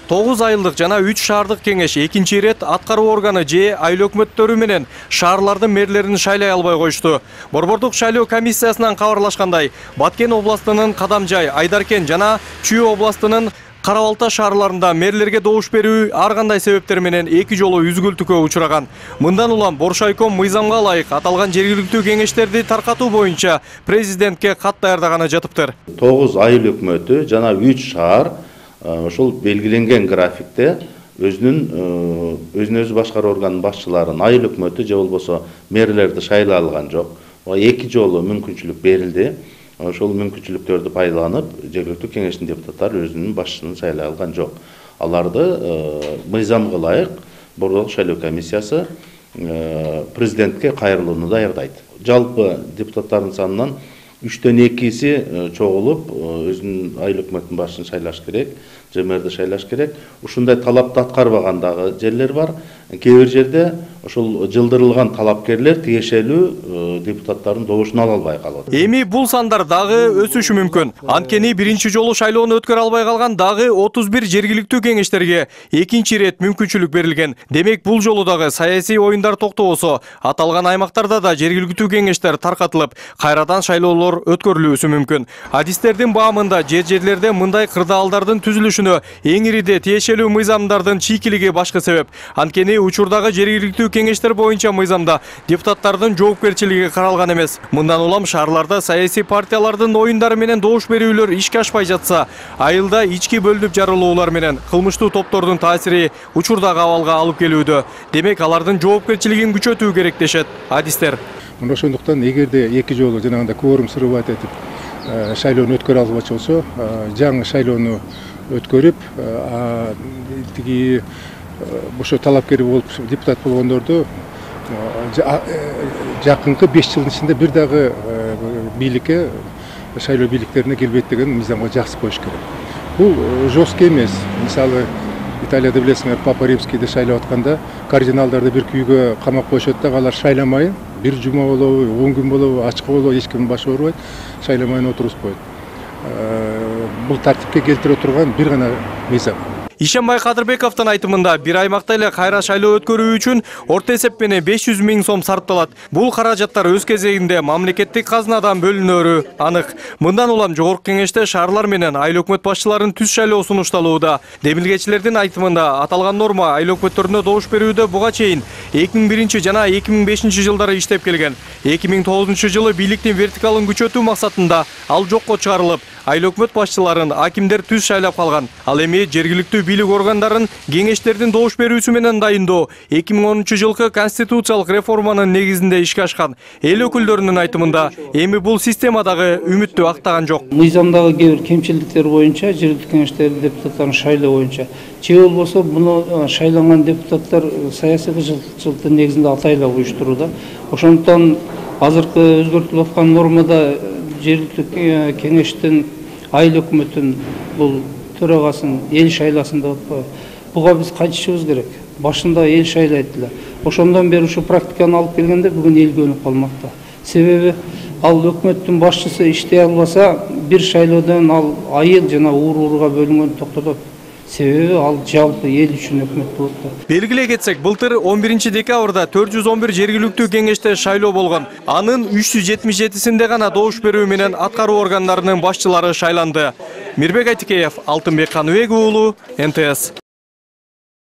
9 айылдык жана 3 шаардык кеңеш экинчи ирет аткаруу органы же айыл өкмөттөрү менен шаарлардын мэрлерин шайлай албай коюшту. Борбордук шайлоо комиссиясынан кабарлашкандай, Баткен областынын Кадамжай, Айдаркен жана Чүй областынын Кара-Балта шаарларында мэрлерге добуш берүү ар кандай себептер менен 2 жолу үзгүлтүккө учураган. Мындан улам Боршайком мыйзамга ылайык аталган жергиликтүү кеңештерди таркатуу боюнча президентке кат даярдаганы жатыптыр. 9 айыл өкмөтү жана 3 шаар ошол белгиленген графикте өзүн өзү башкаруу органынын башчыларын айыл өкмөтү же болбосо мэрлерди шайлай алган жок. 2 жолу мүмкүнчүлүк берилди. Ошол мүмкүнчүлүктөрдү пайдаланып, жергиликтүү кеңештин депутаттары өзүнүн башчысын шайлай алган жок. Аларды мыйзамга ылайык борбордук шайлоо комиссиясы президентке кайрылууну даярдайт. Жалпы депутаттардын санынан 3/2 чогулуп, өзүнүн айыл өкмөтүнүн башчысын шайлаш керек, же мэрди шайлаш керек. Ушундай талапты аткарбагандагы жерлер бар. Кээ бир жерде ошол жылдырылган талапкерлер тиешелүү депутаттардын добушун ала албай калат. Эми бул сандар дагы өсүшү мүмкүн. Анткени биринчи жолу шайлоону өткөрө албай калган дагы 31 жергиликтүү кеңештерге экинчи ирет мүмкүнчүлүк берилген. Демек бул жолу дагы саясий оюндар токтобосо, аталган аймактарда да жергиликтүү кеңештер таркатылып, кайрадан шайлоолор өткөрүлүүсү мүмкүн. Адистердин баамында жерлерде мындай кырдаалдардын түзүлүшүнө эң ириде тиешелүү мыйзамдардын чийкилиги башкы себеп. Анткени учурдагы жергиликтүү кеңештер боюнча мыйзамда депутаттардын жоопкерчилиги каралган эмес. Мындан улам шаарларда саясий партиялардын оюндары менен добуш берүүлөр ишке ашпай жатса, айылда ички бөлүнүп жарылуулар менен кылмыштуу топтордун таасири учурдагы абалга алып келүүдө. Демек алардын жоопкерчилигин күчөтүү керек дешет адистер. Ошондуктан эгерде 2 жолу жанагындай кворум срывать этип шайлоону өткөрө албачу болсо, жаңы шайлоону өткөрүп, тиги ошо талапкер болуп депутат болгондорду жакынкы 5 жылдын ичинде бир дагы бийликке, шайлоо бийликтерине келбейт деген мыйзамга жазып коюш керек. Бул жестко эмес. Мисалы, Италияда билесиңер, Папа Римскийди шайлап атканда кардиналдарды бир күйгө камап коюшат да, алар шайламайын, бир жума болобу, 10 күн болобу, ачкы болобу, эч ким башы оорубайт, шайламайын отуруп коет. Бул тартипке келтире турган бир гана мыйзам. Ишенбай Кадырбековдун айтымында бир аймакта эле кайра шайлоо өткөрүү үчүн орто эсеп менен 500 000 сом сарпталат. Бул каражаттар өз кезегинде мамлекеттик казынадан бөлүнөрү анык. Мындан улам жогорку кеңеште шаарлар менен айыл өкмөт башчыларын түз шайлоо сунушталууда. Демилгечилердин айтымында аталган норма айыл өкмөттөрүнө добуш берүүдө буга чейин 2001 жана 2005 жылдары иштеп келген. 2009 жылы бийликтин вертикалын күчөтүү максатында ал жокко чыгарылып, айыл өкмөт башчыларын акимдер түз шайлап калган. Ал эми жергиликтүү бийлик органдарын кеңештердин добуш берүүсү менен дайындоо 2010 жылкы конституциялык реформанын негизинде ишке ашкан. Эл өкүлдөрүнүн айтымында эми бул системадагы үмүттү актаган жок. Мыйзамдагы кээ бир кемчиликтер боюнча жергиликтүү кеңештердин депутаттарын шайлоо боюнча же болбосо буну шайланган депутаттар саясий кызыкчылыктын негизинде атайлап уюштурууда. Ошондуктан азыркы өзгөртүлүп аткан нормада жергиликтүү кеңештин айыл өкмөтүн бул төрагасын эл шайласын деп атпайбы. Буга биз кайтышыбыз керек. Башында эл шайлайт эле. Ошондон бери ушу практиканы алып келгенде бүгүн эл көнүп калмакта. Себеби ал өкмөттүн башчысы иштей албаса, бир шайлоодон ал айыл жана ууруга бөлүнгөн токтотот. Себеби ал жалпы эл үчүн өкмөт болот да. Белгилей кетсек, былтыр 11 декабрда 411 жергиликтүү кеңеште шайлоо болгон. Анын 377синде гана добуш берүү менен аткаруу органдарынын башчылары шайланды. Мирбек Айтикеев, Алтынбек Каныбек уулу, НТС.